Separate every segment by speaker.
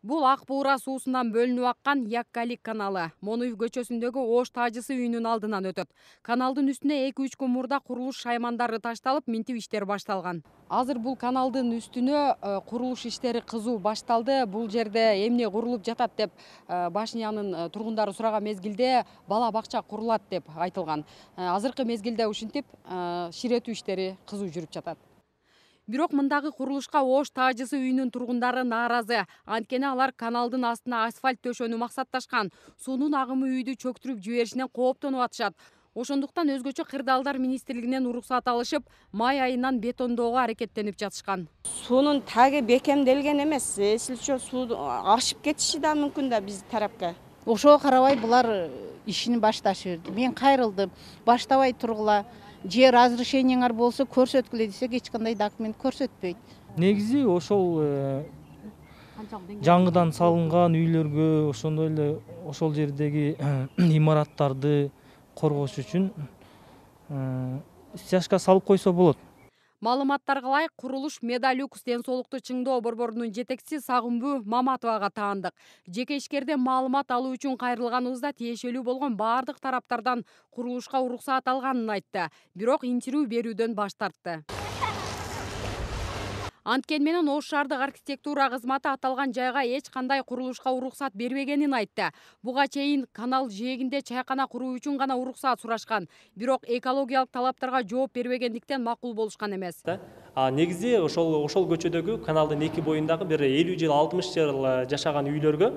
Speaker 1: Бул Ак Буура суусунан бөлүнүп аккан Яккалик каналы Монуев көчөсүндөгү Ош Тажысы үйүнүн алдынан өтөт. Каналдын үстүнө 2-3 күн мурда курулуш шаймандары ташталып, минтип иштер башталган. Азыр бул каналдын үстүнө курулуш иштери кызуу башталды. Бул жерде эмне курулуп жатат деп Башнянын тургундары сураган мезгилде бала бакча курулат деп айтылган. Азыркы мезгилде ушинтип ширетүү иштери кызуу жүрүп жатат. Бирок мындагы курулушка Ош Тажысы үйүнүн тургундары нааразы. Анткени алар каналдын астына асфальт төшөнү максатташкан. Суунун агымы үйдү чөктүрүп жиберишинен кооптонуп атышат. Ошондуктан өзгөчө кырдаалдар министрлигинен уруксат алышып, май айынан бетондоого аракеттенип жатышкан.
Speaker 2: Суунун таги бекемделген эмес. Эсилчө суу ашып кетиши да мүмкүн да биз тарапка.
Speaker 3: Ошого карабай булар ишин башташып берди. Мен кайрылдым. Баштабай тургула. Же разрешениеңер болсо көрсөткүлө десек, эч кандай документ көрсөтпөйт.
Speaker 4: Негизи ошол жаңыдан салынган үйлөргө, ошондой эле ошол жердеги имараттарды коргош үчүн стяжка салып койсо болот.
Speaker 1: Маалыматтарга ылайык, курулуш Медалюкс ден соолукту чыңдоо борборунун жетекчиси Сагынбүү Маматовага таандык. Жеке ишкерден маалымат алуу үчүн кайрылганыбызда тиешелүү болгон бардык тараптардан курулушка уруксаат алганын айтты. Бирок интервью берүүдөн баш тартты. Анткени менен Ош шаардык архитектура кызматы аталган жайга эч кандай курулушка уруксат бербегенин айтты. Буга чейин канал жээгинде чайкана куруу үчүн гана уруксаат сурашкан. Бирок экологиялык талаптарга жооп бербегендиктен макул болушкан эмес.
Speaker 5: Негизи ошол көчөдөгү каналдын эки боюндагы бир 50 жыл 60 жыл жашаган үйлөргө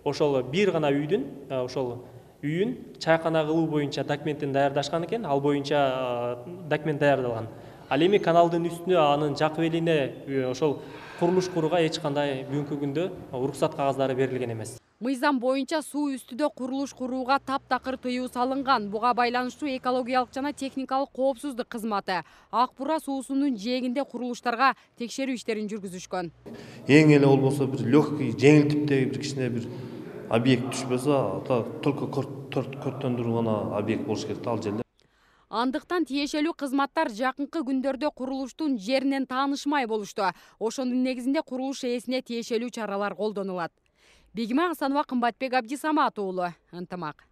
Speaker 5: ошол бир гана үйүн чайкана кылуу боюнча документин даярдашкан экен, ал боюнча документ даярдалган. Ал эми каналдын үстүнө анын жакып элине ошол курулуш курууга эч кандай бүгүнкү күндө уруксат кагаздары берилген эмес.
Speaker 1: Мыйзам боюнча суу үстүдө курулуш курууга таптакыр тыюу салынган. Буга байланыштуу экологиялык жана техникалык коопсуздук кызматы Ак Буура суусунун жээгинде курулуштарга текшерүү иштерин жүргүзүшкөн.
Speaker 6: Эң эле болбосо бир легкий, жеңил типтеги бир кичине бир объект түшпөсө, только көрттөндүрүү гана объект болуш керек ал жерде.
Speaker 1: Андыктан тиешелүү кызматтар жакынкы күндөрдө курулуштун жеринен таанышмай болушту. Ошонун негизинде курулуш ээсине тиешелүү чаралар колдонулат. Бегима Асанова, Кымбатбек Абдисамат уулу, Ынтымак.